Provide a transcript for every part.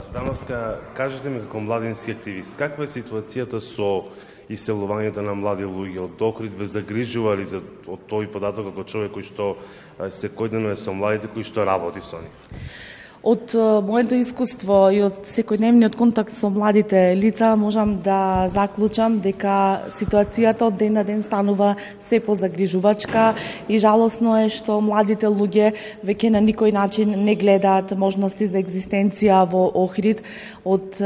Цветановска, кажете ми како младински активист, каква е ситуацијата со иселувањето на млади луѓе од Охрид? Ве загрижува ли од тој податок како човек кој што секојдневно е со младите, кој што работи со нив? Од моето искуство и од секојдневниот контакт со младите лица можам да заклучам дека ситуацијата од ден на ден станува се позагрижувачка и жалосно е што младите луѓе веќе на никој начин не гледаат можности за екзистенција во Охрид од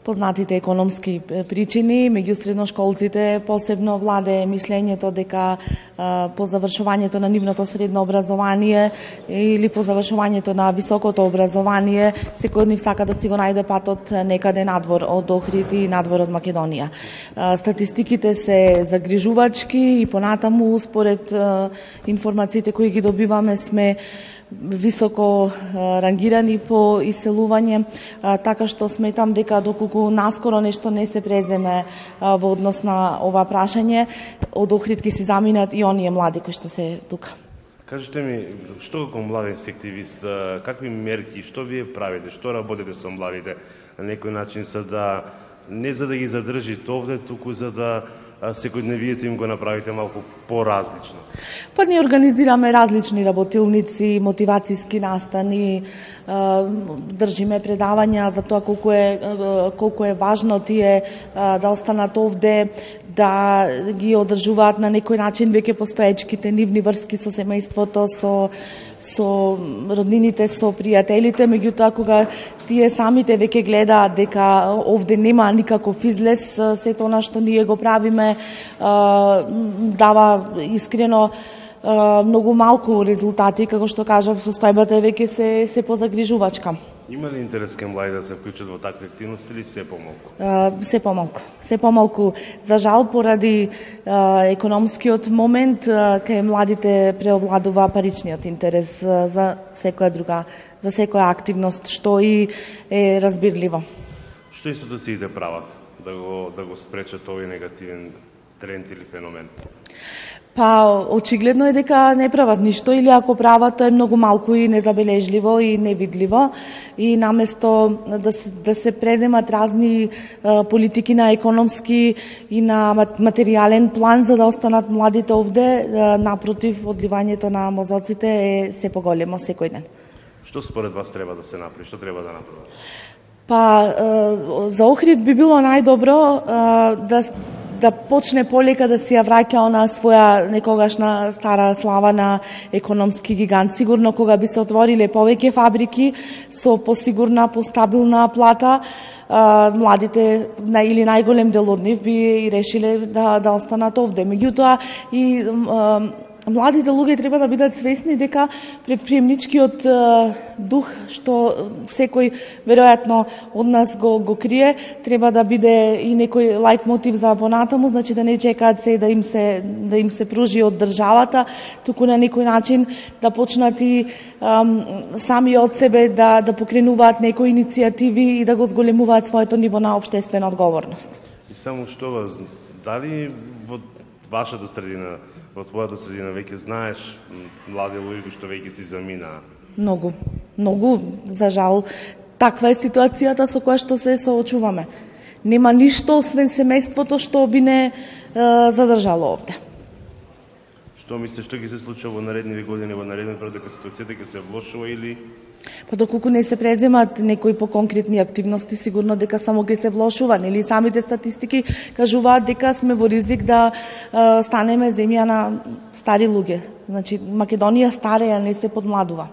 познатите економски причини. Меѓу средношколците посебно владее мислењето дека по завршувањето на нивното средно образование или по завршувањето на високото образование секој од нив сака да си го најде патот некаде надвор од Охрид и надвор од Македонија. Статистиките се загрижувачки и понатаму според информациите кои ги добиваме сме високо рангирани по иселување, така што сметам дека доколку наскоро нешто не се преземе во однос на ова прашање, од Охрид ќе си заминат и оние млади кои што се тука. Кажете ми, што како младински активист, какви мерки, што вие правите, што работите со младите на некој начин за да не за да ги задржите овде, туку за да секојдневието им го направите малку поразлично? Па ние организираме различни работилници, мотивацијски настани, држиме предавања за тоа колку е важно тие да останат овде, да ги одржуваат на некој начин веќе постоечките нивни врски со семејството, со роднините, со пријателите, меѓутоа кога тие самите веќе гледаат дека овде нема никаков излез, сето она што ние го правиме дава искрено многу малку резултати, како што кажав, состојбата е веќе се позагрижувачка. Има ли интерес кај млади да се вклучат во такви активности или се помалку? Се помалку. Се помалку. За жал, поради економскиот момент, кај младите преовладува паричниот интерес за секоја активност, што и е разбирливо. Што институциите прават да го спречат овој негативен тренд или феномен? Па, очигледно е дека не прават ништо, или ако прават, тоа е многу малку и незабележливо и невидливо. И наместо да се преземат разни политики на економски и на материјален план за да останат младите овде, напротив, одливањето на мозоците е се поголемо секој ден. Што според вас треба да се направи? Што треба да направи? Па, за Охрид би било најдобро да почне полека да си ја враќа она своја некогашна стара слава на економски гигант. Сигурно кога би се отвориле повеќе фабрики со посигурна, постабилна плата, младите или најголем дел од нив би решиле да останат овде. Меѓутоа и младите луѓе треба да бидат свесни дека предприемничкиот дух што секој веројатно од нас го крие, треба да биде и некој лајт мотив за понатаму, значи да не чекаат се да им се пружи од државата, туку на некој начин да почнат и сами од себе да покренуваат некои иницијативи и да го зголемуваат своето ниво на општествена одговорност. И само што дали во вашата средина, во твојата средина веќе знаеш млади луѓе што веќе си заминаа? Многу, за жал. Таква е ситуацијата со која што се соочуваме. Нема ништо освен семејството што би не задржало овде. Што мислиш што ќе се случува во наредни години, во наредниот период, дека ситуацијата ќе се влошува или? Па доколку не се преземат некои поконкретни активности, сигурно дека само ќе се влошува, нели самите статистики кажуваат дека сме во ризик да станеме земја на стари луѓе. Значи Македонија стареја, не се подмладува.